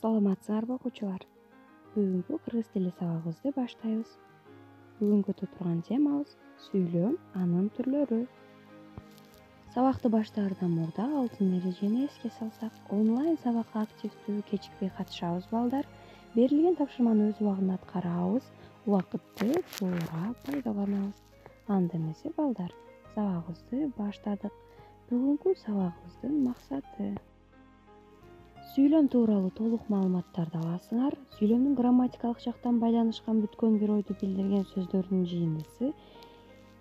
Саламатсыңарбы окуучулар? Бүгүнкү кыргыз тили сабагыбызды баштайбыз. Бүгүнкү турган темабыз сүйлөм, анын түрлөрү. Сабакты баштаардан мурда алтын эрежени эске салсак, онлайн сабакка активдүү кечикпей катышабыз балдар. Берилген тапшырманы өз убагында аткарабыз, убакытты туура пайдаланабыз. Анда эмесе балдар, сабагыбызды баштадык. Бүгүнкү сабагыбыздын максаты сүйлөм тууралуу толук маалыматтарды аласыңар. Сүйлөмдүн грамматикалык жактан байланышкан бүткөн бир ойду билдирген сөздөрдүн жыйындысы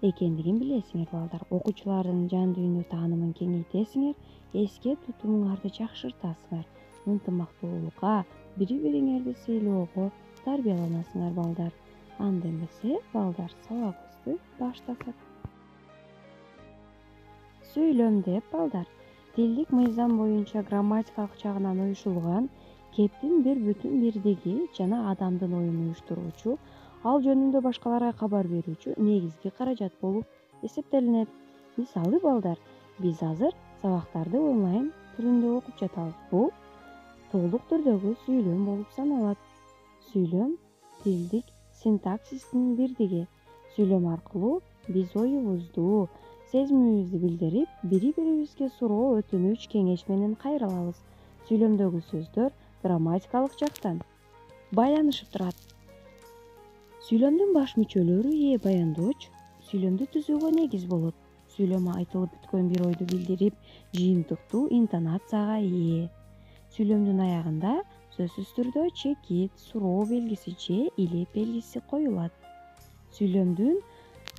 экендигин билесиңер балдар. Окуучулардын жан дүйнө таанымын кеңейтесиңер, эске тутумуңарды жакшыртасыңар, ынтымактуулукка, бири-бириңерди сыйлоого тарбияланасыңар балдар. Анда эмесе балдар, сабагыбызды баштасак. Сүйлөм деп балдар, тилдик мыйзам боюнча грамматикалык жагынан уюшулган, кептин бир бүтүн бирдиги жана адамдын оюн уюштуруучу, ал жөнүндө башкаларга кабар берүүчү негизги каражат болуп эсептелинет. Мисалы балдар, биз азыр сабактарды онлайн түрүндө окуп жатабыз. Бул толук түрдөгү сүйлөм болуп саналат. Сүйлөм тилдик синтаксистин бирдиги. Сүйлөм аркылуу биз оюбузду, сезимибизди билдирип, бири-бирибизге суроо, өтүнүч, кеңеш менен кайра алабыз. Сүйлөмдөгү сөздөр грамматикалык жактан байланышып турат. Сүйлөмдүн баш мүчөлөрү ээ баяндооч сүйлөмдү түзүүгө негиз болот. Сүйлөм айтылып бүткөн бир ойду билдирип, жыйынтыктуу интонацияга ээ. Сүйлөмдүн аягында сөзсүз түрдө чекит, суроо белгиси же илеп белгиси коюлат. Сүйлөмдүн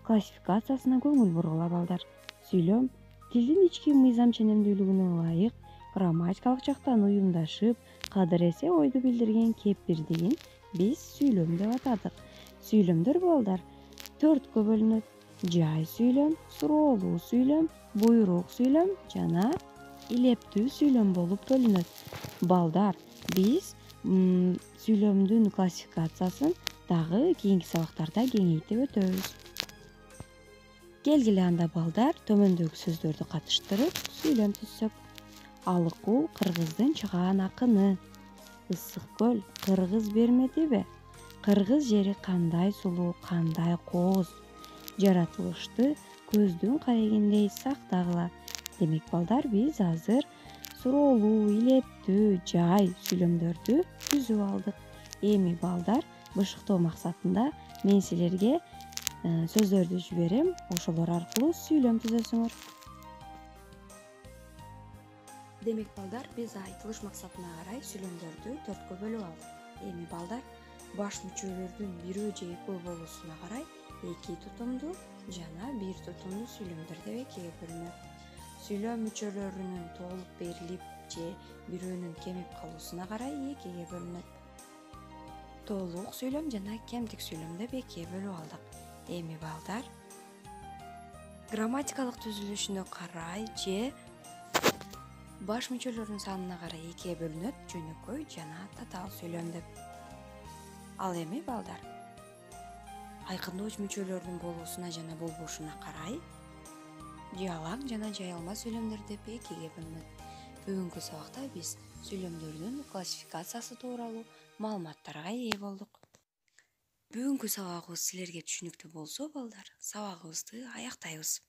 классификациясына көңүл бургула балдар. Сүйлөм тилдин ички мыйзам ченемдүүлүгүнө ылайык грамматикалык жактан уюмдашып, кадыр эсе ойду билдирген кеп бирдигин биз сүйлөм деп атадык. Сүйлөмдөр балдар 4кө бөлүнөт: жай сүйлөм, суроолуу сүйлөм, буйрук сүйлөм жана илептүү сүйлөм болуп бөлүнөт. Балдар, биз сүйлөмдүн классификациясын дагы кийинки сабактарда кеңейтип өтөбүз. Келгиле анда балдар, төмөндөгү сөздөрдү катыштырып сүйлөм түзсөк. Алыкул кыргыздын чыгаан акыны. Ысык көл кыргыз бермедиби? Кыргыз жери кандай сулуу, кандай кооз. Жаратылышты көздүн карегиндей сактагыла. Демек балдар, биз азыр суроолуу, илептүү, жай сүйлөмдөрдү түзүп алдык. Эми балдар, бышыктоо максатында мен силерге сөздөрдү жиберем, ошолор аркылуу сүйлөм түзөсүңөр. Демек балдар, биз айтылыш максатына карай сүйлөмдөрдү 4кө бөлүп алдык. Эми балдар, баш мүчөлөрдүн бирөө же экөө болуусуна карай эки тутумдуу жана бир тутумдуу сүйлөмдөр деп экиге бөлүнөт. Сүйлөм мүчөлөрүнүн толук берилип же бирөөнүн кемип калуусуна карай экиге бөлүнөт. Толук сүйлөм жана кемтик сүйлөм деп экиге бөлүп алдык. Эми балдар, грамматикалык түзүлүшүнө карай же баш мүчөлөрүнүн санына карай экиге бөлүнөт: жөнөкөй жана татаал сүйлөм деп. Ал эми балдар, айкындооч мүчөлөрдүн болуусуна жана болбошуна карай жалаң жана жайылма сүйлөмдөр деп экиге бөлүнөт. Бүгүнкү сабакта биз сүйлөмдөрдүн классификациясы тууралуу маалыматтарга ээ болдук. Бүгүнкү сабагыбыз силерге түшүнүктүү болсо балдар, сабагыбызды аяктайбыз.